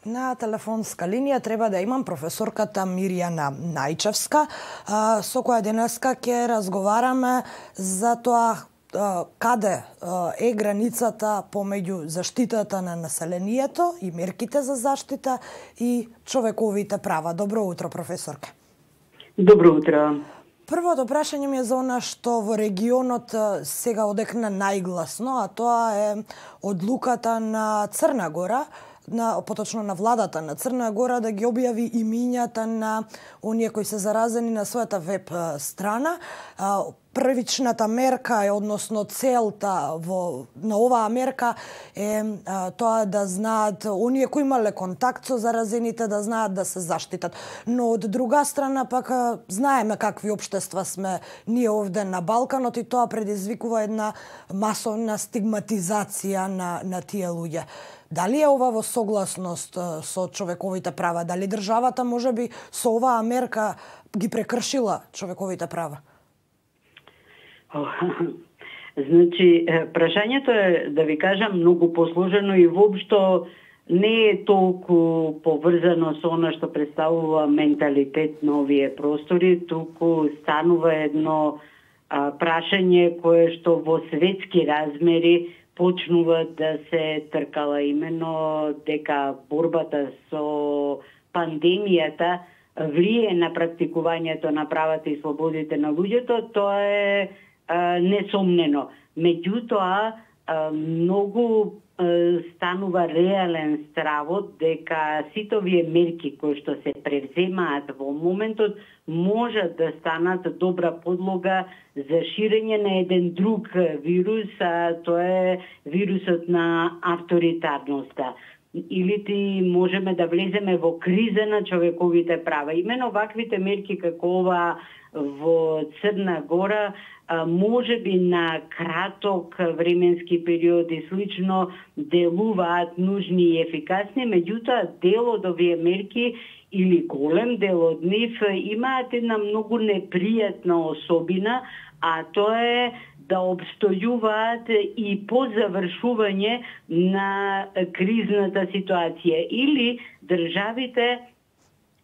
На телефонска линија треба да имам професорката Мирјана Најчевска, со која денеска ќе разговараме за тоа каде е границата помеѓу заштитата на населението и мерките за заштита и човековите права. Добро утро, професорка. Добро утро. Првото прашање ми е за она што во регионот сега одекна најгласно, а тоа е одлуката на Црна Гора, поточно на владата на Црна Гора, да ги објави имињата на оние кои се заразени на својата веб страна. Првичната мерка е, односно целта на оваа мерка е тоа да знаат оние кои имале контакт со заразените, да знаат да се заштитат. Но од друга страна пак знаеме какви општества сме ние овде на Балканот и тоа предизвикува една масовна стигматизација на тие луѓе. Дали е ова во согласност со човековите права? Дали државата можеби со оваа мерка ги прекршила човековите права? Значи, прашањето е, да ви кажам, многу посложено и воопшто не е толку поврзано со она што представува менталитет на овие простори, туку станува едно прашање кое што во светски размери почнува да се тркала, именно дека борбата со пандемијата влие на практикувањето на правата и слободите на луѓето, тоа е несомнено. Меѓутоа, многу станува реален стравот дека сите овие мерки кои што се превземаат во моментот можат да станат добра подлога за ширење на еден друг вирус, а тоа е вирусот на авторитарноста. Или ти можеме да влеземе во криза на човековите права. Имено ваквите мерки како ова во Црна Гора може би на краток временски период и слично делуваат нужни и ефикасни, меѓутоа дел од овие мерки или голем дел од нив имаат една многу непријатна особина, а тоа е да обстојуваат и по завршување на кризната ситуација или државите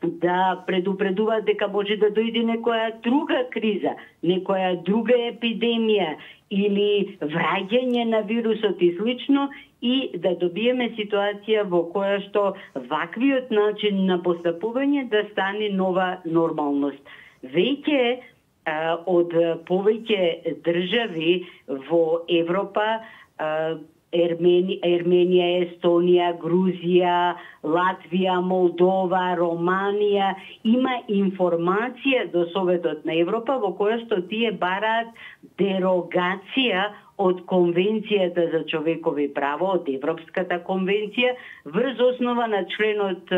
да предупредуваат дека може да дојде некоја друга криза, некоја друга епидемија или враќање на вирусот и слично, и да добиеме ситуација во која што ваквиот начин на постапување да стане нова нормалност. Веќе од повеќе држави во Европа, Ерменија, Естонија, Грузија, Латвија, Молдова, Романија, има информација до Советот на Европа во која што тие бараат дерогација од Конвенцијата за човекови права, од Европската конвенција, врз основа на членот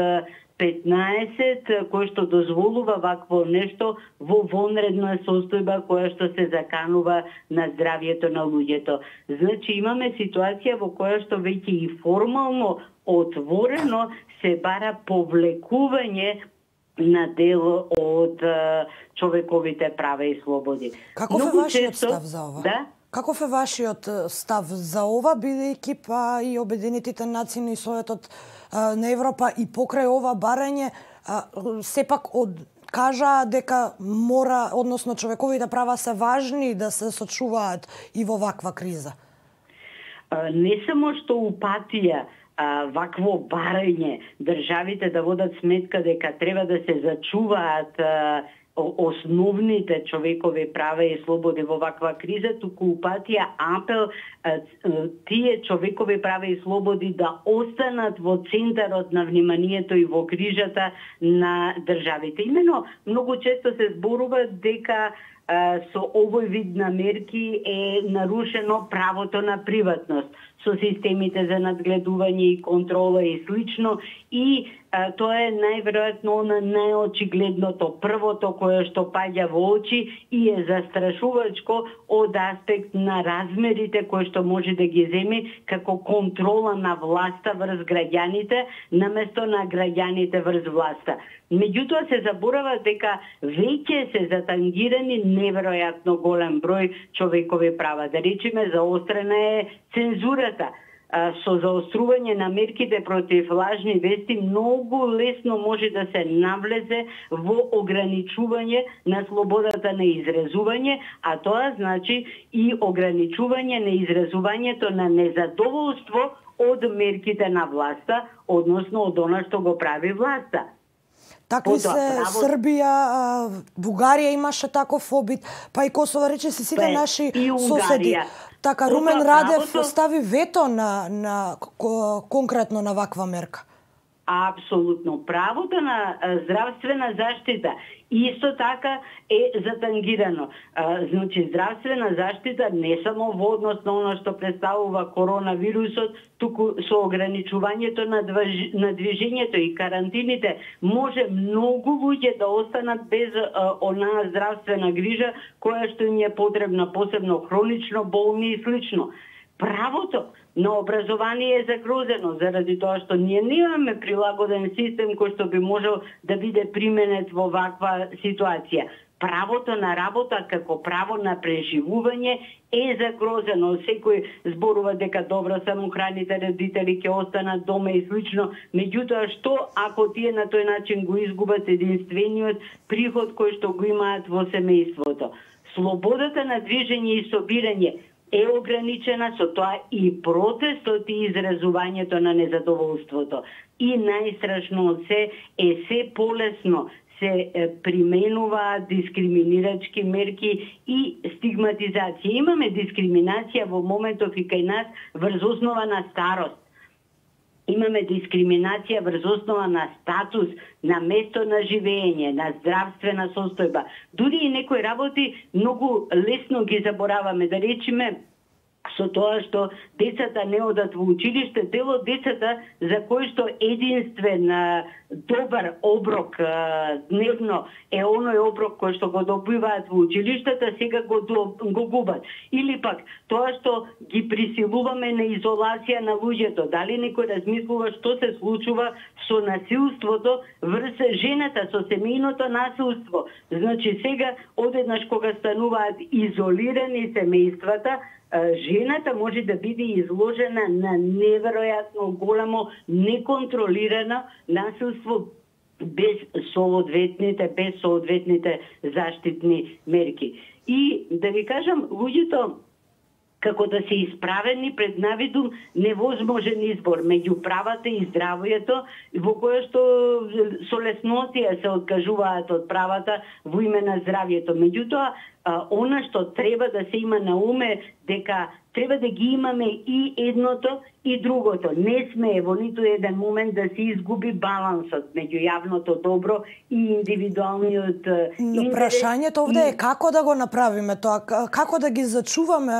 15, кој што дозволува вакво нешто во вонредна состојба која што се заканува на здравјето на луѓето. Значи имаме ситуација во која што веќе и формално отворено се бара повлекување на дел од човековите права и слободи. Каков е вашиот став за ова? Да? Каков е вашиот став за ова, бидејќи па и Обединетите нации и Советот на Европа и покрај ова барање сепак кажа дека мора, односно човековите права се важни да се сочуваат и во ваква криза? Не само што упатија вакво барање државите да водат сметка дека треба да се зачуваат основните човекови права и слободи во ваква криза, туку упатија апел тие човекови права и слободи да останат во центарот на вниманието и во грижата на државите. Имено, многу често се зборува дека со овој вид на мерки е нарушено правото на приватност со системите за надгледување и контрола и слично, и тоа е најверојатно на најочигледното, првото кое што паѓа во очи и е застрашувачко од аспект на размерите кои што може да ги земи како контрола на власта врз граѓаните, наместо на граѓаните врз власта. Меѓутоа се заборава дека веќе се затангирани неверојатно голем број човекови права. Да речеме, заострена е цензурата. со заострување на мерките против лажни вести многу лесно може да се навлезе во ограничување на слободата на изразување, а тоа значи и ограничување на изразувањето на незадоволство од мерките на власта, односно од она што го прави власта. Такви се Србија, Бугарија имаше таков обид, па и Косово, рече си сите наши соседи. Така, Румен Радев стави вето на конкретно на ваква мерка. Апсолутно. Правото на здравствена заштита исто така е затангирано. Значи, здравствена заштита не само во однос на оно што представува коронавирусот, туку со ограничувањето на движењето и карантините може многу луѓе да останат без онаа здравствена грижа која што им е потребна, посебно хронично болни и слично. Правото на образование е загрозено заради тоа што ние немаме прилагоден систем кој што би можел да биде применет во ваква ситуација. Правото на работа како право на преживување е загрозено. Секој зборува дека добро самохраните родители ќе останат дома и слично. Меѓутоа, што ако тие на тој начин го изгубат единствениот приход кој што го имаат во семејството? Слободата на движење и собирање е ограничена, со тоа и протестот и изразувањето на незадоволството. И најстрашно од се е се полесно се применуваат дискриминирачки мерки и стигматизација. Имаме дискриминација во моментов и кај нас врз основа на старост. Имаме дискриминација врз основа на статус, на место на живење, на здравствена состојба. Дури и некои работи многу лесно ги забораваме, да речеме, со тоа што децата не одат во училиште, дел од децата за кои што единствен добар оброк дневно е оној оброк кој што го добиваат во училиштата, сега го губат. Или пак тоа што ги присилуваме на изолација на луѓето. Дали некој размислува што се случува со насилството врз жената, со семејното насилство? Значи сега одеднаш кога стануваат изолирани семејствата, жената може да биде изложена на неверојатно големо, неконтролирано насилство без соодветните заштитни мерки. И да ви кажам, луѓето како да се исправени пред навидум невозможен избор меѓу правата и здравјето, во кое што со леснотија се откажуваат од правата во име на здравјето. Меѓутоа, она што треба да се има на уме дека треба да ги имаме и едното и другото. Не смее во ниту еден момент да се изгуби балансот меѓу јавното добро и индивидуалниот интерес. Прашањето овде е како да го направиме тоа, како да ги зачуваме,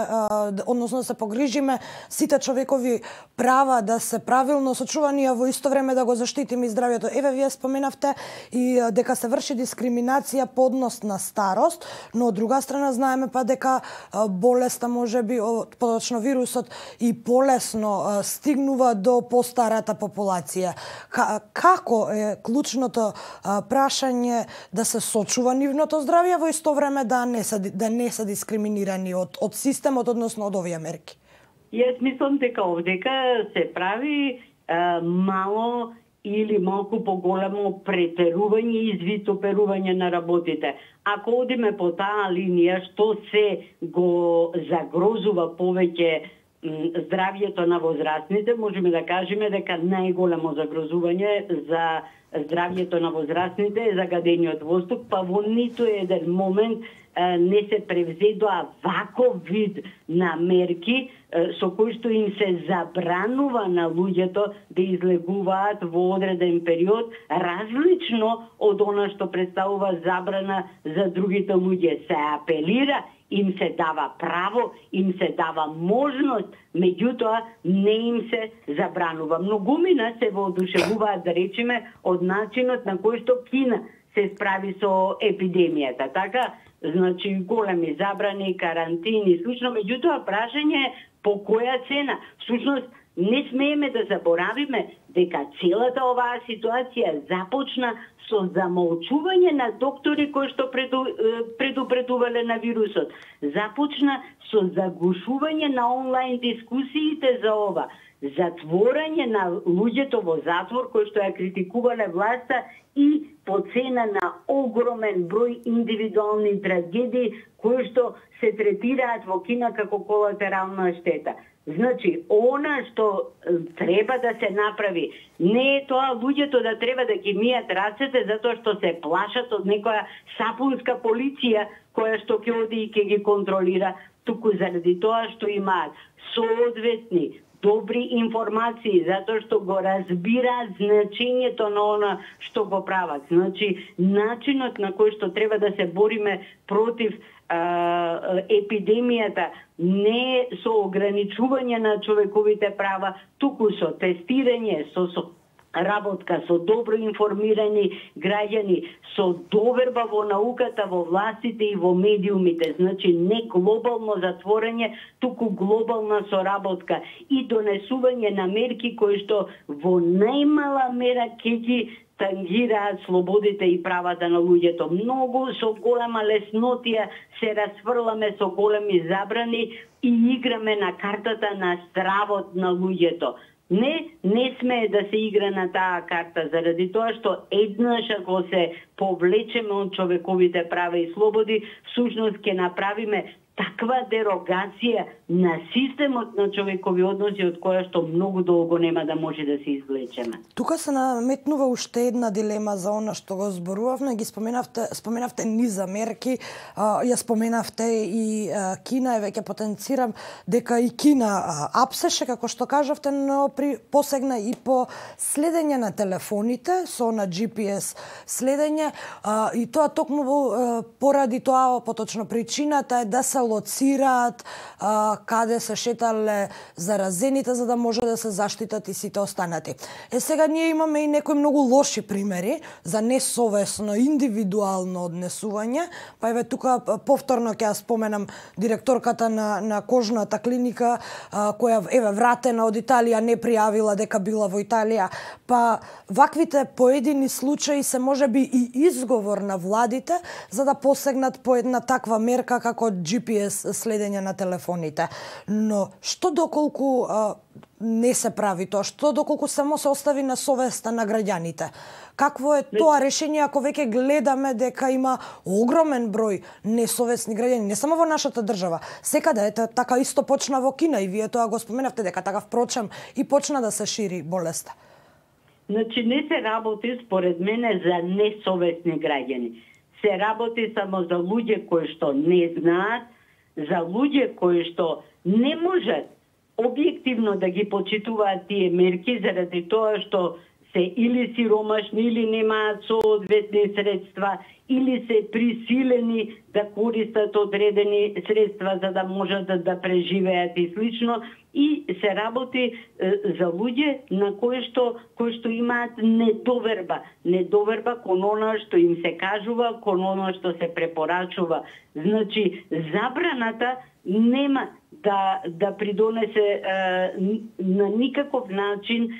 односно да се погрижиме сите човекови права да се правилно сочувани, а во исто време да го заштитиме и здравјето. Еве, вие споменавте и дека се врши дискриминација по однос на старост, но од друга страна знаеме па дека болеста можеби, поточно вирусот, и полесно стигнува до постарата популација. Како е клучното прашање да се сочува нивното здравје, во исто време да не се дискриминирани од системот, односно од овие мерки? Јас мислам дека овдека се прави мало или малку поголемо претерување и извитоперување на работите. Ако одиме по таа линија, што се го загрозува повеќе здравјето на возрастните, можеме да кажеме дека најголемо загрозување за здравјето на возрастните е загадениот воздух, па во ниту еден момент не се превзедоа ваков вид на мерки со кои што им се забранува на луѓето да излегуваат во одреден период, различно од она што представува забрана за другите луѓе. Се апелира, им се дава право, им се дава можност, меѓутоа не им се забранува. Многумина се воодушевуваат, да речеме, од начинот на кој што Кина се справи со епидемијата. Така, значи, големи забрани, карантини и слично, меѓутоа прашање е по која цена. Всушност, не смееме да заборавиме дека целата оваа ситуација започна со замолчување на доктори кои што предупредувале на вирусот. Започна со заглушување на онлайн дискусиите за ова. затворање на луѓето во затвор кои што ја критикувале власта и по цена на огромен број индивидуални трагедии кои што се третираат во Кина како колатерална штета. Значи, она што треба да се направи, не е тоа луѓето да треба да ги мијат рацете затоа што се плашат од некоја сапунска полиција која што ќе оди и ќе ги контролира, туку заради тоа што имаат соодветни добри информации, затоа што го разбираат значењето на она што го прават. Значи, начинот на кој што треба да се бориме против епидемијата не е со ограничување на човековите права, туку со тестирање, со работка со добро информирани граѓани, со доверба во науката, во властите и во медиумите. Значи, не глобално затворање, туку глобална соработка и донесување на мерки кои што во најмала мера ќе ги тангираат слободите и правата на луѓето. Многу со голема леснотија се расфрламе со големи забрани и играме на картата на стравот на луѓето. Не смее да се игра на таа карта, заради тоа што еднаш ако се повлечеме од човековите права и слободи, всушност ќе направиме таква дерогација на системот на човекови односи од која што многу долго нема да може да се извлечеме. Тука се наметнува уште една дилема за она што го зборувавме, ги споменавте низа мерки, ја споменавте и Кина, веќе потенцирам дека и Кина апсеше, како што кажавте, но посегна и по следење на телефоните, со на GPS следење, и тоа токму поради тоа, поточно причината е да се лоцираат каде се шетале заразените за да може да се заштитат и сите останати. Сега ние имаме и некои многу лоши примери за несовесно индивидуално однесување, па еве тука повторно ќе ја споменам директорката на кожната клиника која еве вратена од Италија, не пријавила дека била во Италија, па ваквите поедини случаи се можеби и изговор на владите за да посегнат по една таква мерка како GPS следење на телефоните. Но што доколку не се прави тоа? Што доколку само се остави на совеста на граѓаните? Какво е тоа решение ако веќе гледаме дека има огромен број несовесни граѓани, не само во нашата држава, секаде така исто почна во Кина и вие тоа го споменавте дека така впрочем и почна да се шири болеста. Значи не се работи според мене за несовесни граѓани. Се работи само за луѓе кои што не знаат, за луѓе кои што не можат објективно да ги почитуваат тие мерки заради тоа што се или сиромашни, или немаат соодветни средства, или се присилени да користат одредени средства за да можат да преживеат и слично, и се работи за луѓе на кои што имаат недоверба кон она што им се кажува, кон она што се препорачува. Значи, забраната нема да придонесе на никаков начин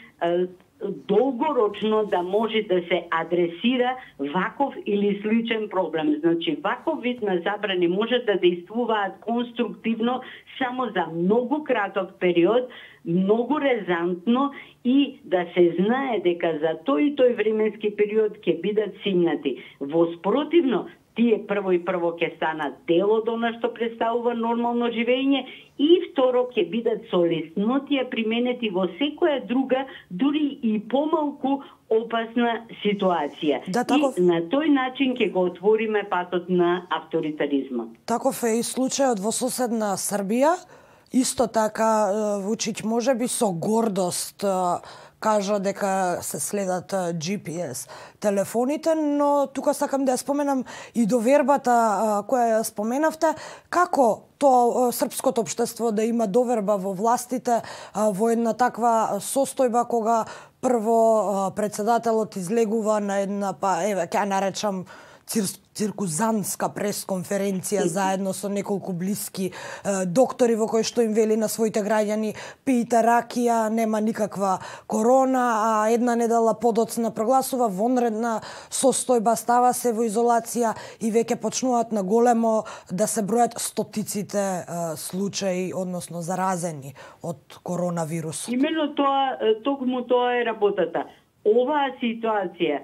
долгорочно да може да се адресира ваков или сличен проблем. Значи, ваков вид на забрани може да действуваат конструктивно само за многу краток период, многу резантно и да се знае дека за тој и тој временски период ќе бидат симнати. Во спротивно, тие прво ќе станат дел од она што представува нормално живење и второ ќе бидат со леснотија применети во секоја друга, дури и помалку опасна ситуација. И на тој начин ќе го отвориме патот на авторитаризмот. Таков е и случајот во соседна Србија. Исто така Вучиќ можеби со гордост кажа дека се следат GPS телефоните, но тука сакам да ја споменам и довербата која ја споменавте, како тоа српското општество да има доверба во властите во една таква состојба кога прво председателот излегува на една, па еве ќе ја наречам циркузантска пресконференција заедно со неколку блиски доктори во кои што им вели на своите граѓани пијте ракија, нема никаква корона, а една недела подоцна прогласува вонредна состојба, става се во изолација и веќе почнуваат на големо да се бројат стотиците случаи, односно заразени од коронавирус. Именно тоа, токму тоа е работата. Оваа ситуација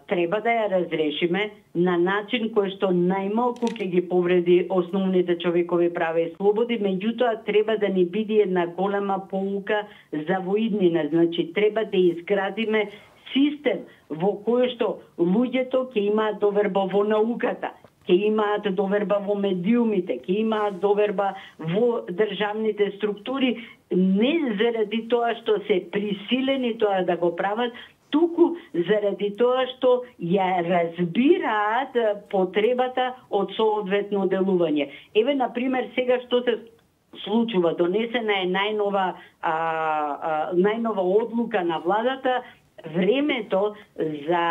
треба да ја разрешиме на начин кој што најмалку ќе ги повреди основните човекови права и слободи, меѓутоа треба да ни биде една голема поука за воиднина. Значи, треба да изградиме систем во кој што луѓето ќе имаат доверба во науката, ќе имаат доверба во медиумите, ќе имаат доверба во државните структури, не заради тоа што се присилени тоа да го прават, туку заради тоа што ја разбираат потребата од соодветно делување. Еве, например, сега што се случува, донесена е најнова одлука на владата, времето за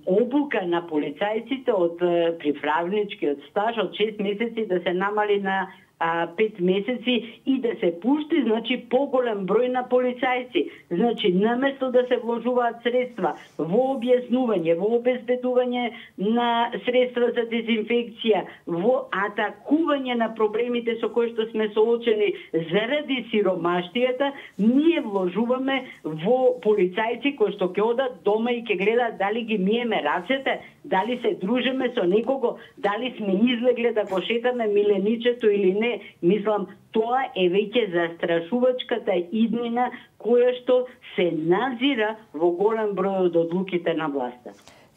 обука на полицајците од приправничкиот стаж од 6 месеци да се намали на 5 месеци и да се пушти, значи, поголем број на полицајци. Значи, наместо да се вложуваат средства во објаснување, во обезбедување на средства за дезинфекција, во атакување на проблемите со кои што сме соочени заради сиромаштијата, ние вложуваме во полицајци кои што ќе одат дома и ќе гледаат дали ги миеме рацете, дали се дружиме со некого, дали сме излегле да го шетаме миленичето или не. Мислам, тоа е веќе застрашувачката иднина која што се назира во голем број од одлуките на власта.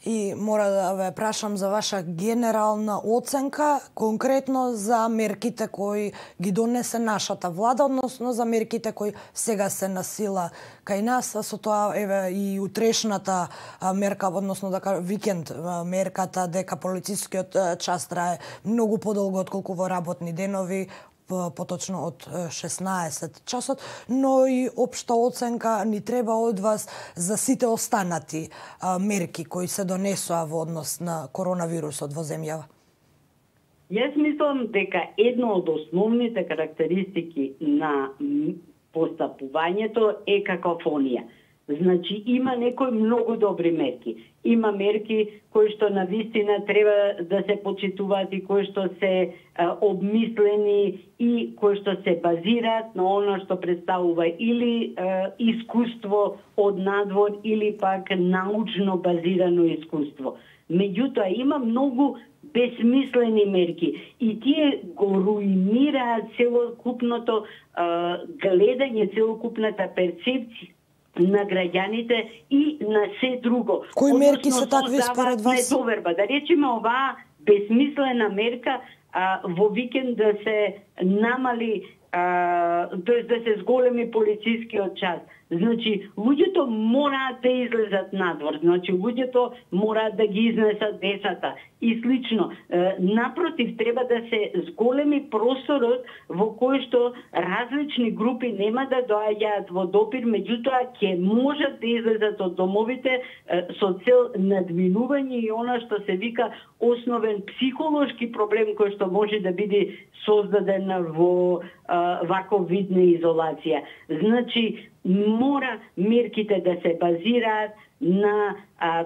И мора да ве прашам за ваша генерална оценка, конкретно за мерките кои ги донесе нашата влада, односно за мерките кои сега се на сила кај нас, со тоа еве и утрешната мерка, односно да викенд мерката дека полицискиот час трае многу подолго отколку во работни денови, поточно од 16 часот, но и општа оценка ни треба од вас за сите останати мерки кои се донесоа во однос на коронавирусот во земјава. Јас мислам дека една од основните карактеристики на постапувањето е какофонија. Значи, има некои многу добри мерки. Има мерки кои што на вистина треба да се почитуваат и кои што се обмислени и кои што се базираат на оно што представува или искуство од надвор или пак научно базирано искуство. Меѓутоа, има многу безсмислени мерки и тие го руинираат целокупното гледање, целокупната перцепција на граѓаните и на се друго. Кои мерки се такви според вас? Недоверба. Да речеме, оваа безсмислена мерка во викенд да се намали, тоест да се зголеми полицискиот час. Значи, луѓето мораат да излезат надвор, значи луѓето мораат да ги изнесат децата и слично. Напротив, треба да се зголеми просторот во кој што различни групи нема да доаѓаат во допир, меѓутоа ќе можат да излезат од домовите со цел надминување и она што се вика основен психолошки проблем кој што може да биде создаден во ваков вид на изолација. Значи, мора мерките да се базираат на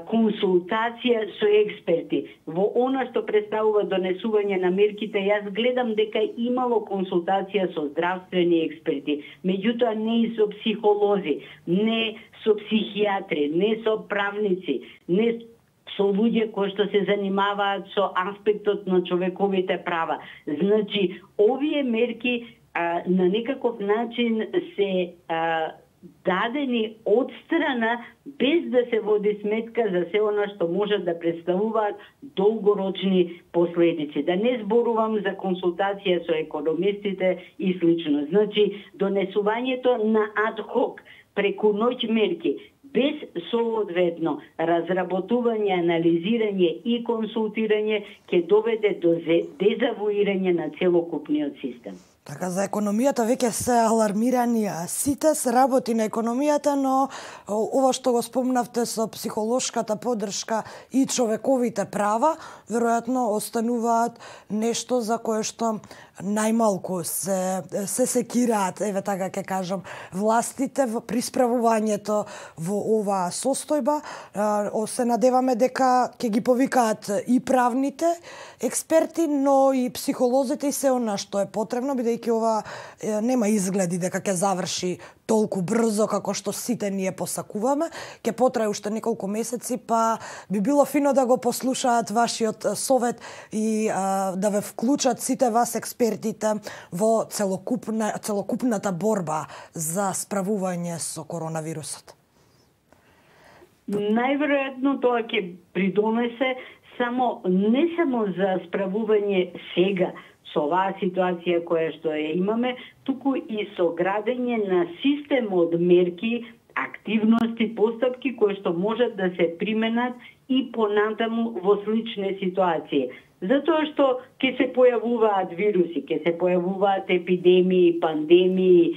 консултација со експерти. Во она што представува донесување на мерките, јас гледам дека имало консултација со здравствени експерти, меѓутоа не и со психолози, не со психијатри, не со правници, не со луѓе кои што се занимаваат со аспектот на човековите права. Значи, овие мерки на некаков начин се дадени од страна без да се води сметка за се она што може да представуваат долгорочни последици. Да не зборувам за консултација со економистите и слично. Значи, донесувањето на адхок преку ноќ мерки без соодветно разработување, анализирање и консултирање ќе доведе до дезавуирање на целокупниот систем. Така, за економијата веќе се алармирани сите, се работи на економијата, но ова што го спомнавте со психолошката поддршка и човековите права, веројатно остануваат нешто за кое што најмалку се секираат, еве така ќе кажам, властите при справувањето во оваа состојба. Се надеваме дека ќе ги повикаат и правните експерти, но и психолозите и се она што е потребно, бидејќи ова нема изгледи дека ќе заврши толку брзо како што сите ние посакуваме. Ќе потрае уште неколку месеци, па би било фино да го послушаат вашиот совет и да ве вклучат сите вас експертите во целокупната борба за справување со коронавирусот. Најверојатно тоа ќе придонесе не само за справување сега со оваа ситуација која што ја имаме, туку и со градење на систем од мерки, активности, постапки кои што можат да се применат и понатаму во слични ситуации. Затоа што ќе се појавуваат вируси, ќе се појавуваат епидемии, пандемии,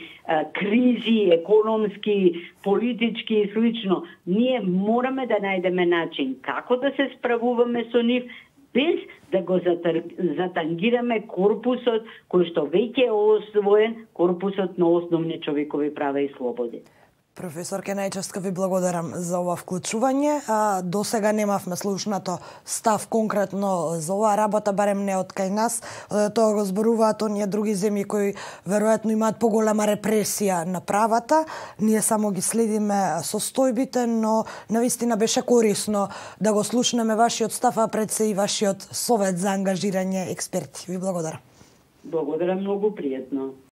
кризи, економски, политички и слично. Ние мораме да најдеме начин како да се справуваме со нив, без да го затангираме корпусот кој што веќе е освоен, корпусот на основни човекови права и слободи. Професор Најчевска, ви благодарам за ова вклучување. До сега немавме слушнато став конкретно за оваа работа, барем не од кај нас. Тоа го зборуваат оние други земји кои веројатно имаат поголема репресија на правата. Ние само ги следиме состојбите, но навистина беше корисно да го слушнеме вашиот став, а пред се и вашиот совет за ангажирање експерти. Ви благодарам. Благодарам, многу пријатно.